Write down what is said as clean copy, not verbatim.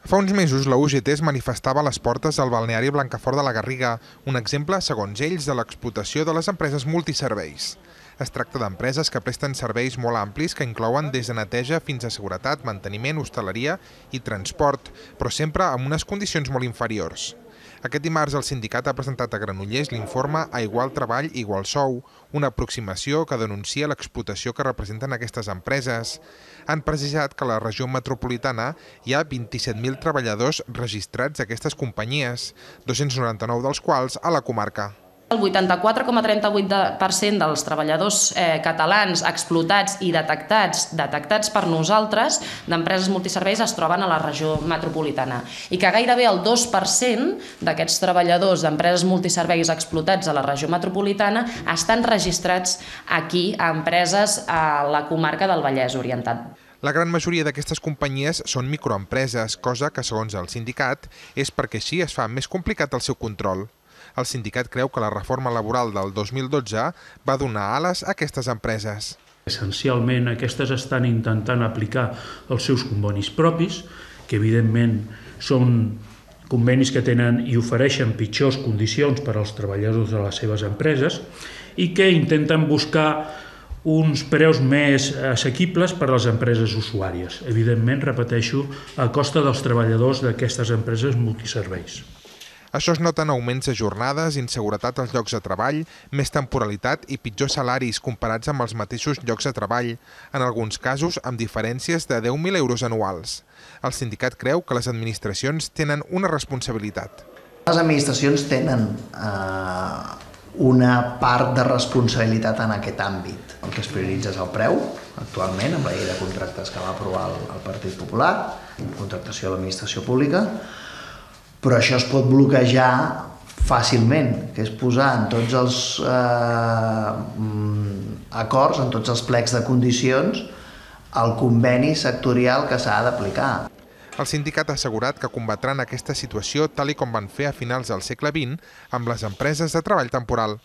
Fa uns mesos, la UGT es manifestava a les portes del balneari Blancafort de la Garriga, un exemple, segons ells, de l'explotació de les empreses multiserveis. Es tracta d'empreses que presten serveis molt amplis que inclouen des de neteja fins a seguretat, manteniment, hostaleria i transport, però sempre amb unes condicions molt inferiors. Aquest dimarts el sindicat ha presentat a Granollers l'informe A igual treball, igual sou, una aproximació que denuncia l'explotació que representen aquestes empreses. Han precisat que a la regió metropolitana hi ha 27.000 treballadors registrats a aquestes companyies, 299 dels quals a la comarca. El 84,38% dels treballadors catalans explotats i detectats per nosaltres d'empreses multiserveis es troben a la regió metropolitana i que gairebé el 2% d'aquests treballadors d'empreses multiserveis explotats a la regió metropolitana estan registrats aquí a empreses a la comarca del Vallès Oriental. La gran majoria d'aquestes companyies són microempreses, cosa que, segons el sindicat, és perquè així es fa més complicat el seu control. El sindicat creu que la reforma laboral del 2012 va donar ales a aquestes empreses. Essencialment, aquestes estan intentant aplicar els seus convenis propis, que evidentment són convenis que tenen i ofereixen pitjors condicions per als treballadors de les seves empreses i que intenten buscar uns preus més assequibles per a les empreses usuàries. Evidentment, repeteixo, a costa dels treballadors d'aquestes empreses multiserveis. Això es nota en augments de jornades, inseguretat als llocs de treball, més temporalitat i pitjors salaris comparats amb els mateixos llocs de treball, en alguns casos amb diferències de 10.000 euros anuals. El sindicat creu que les administracions tenen una responsabilitat. Les administracions tenen una part de responsabilitat en aquest àmbit. El que es prioritza és el preu, actualment, amb la llei de contractes que va aprovar el Partit Popular, contractació de l'administració pública, però això es pot bloquejar fàcilment, que és posar en tots els acords, en tots els plecs de condicions, el conveni sectorial que s'ha d'aplicar. El sindicat ha assegurat que combatran aquesta situació tal i com van fer a finals del segle XX amb les empreses de treball temporal.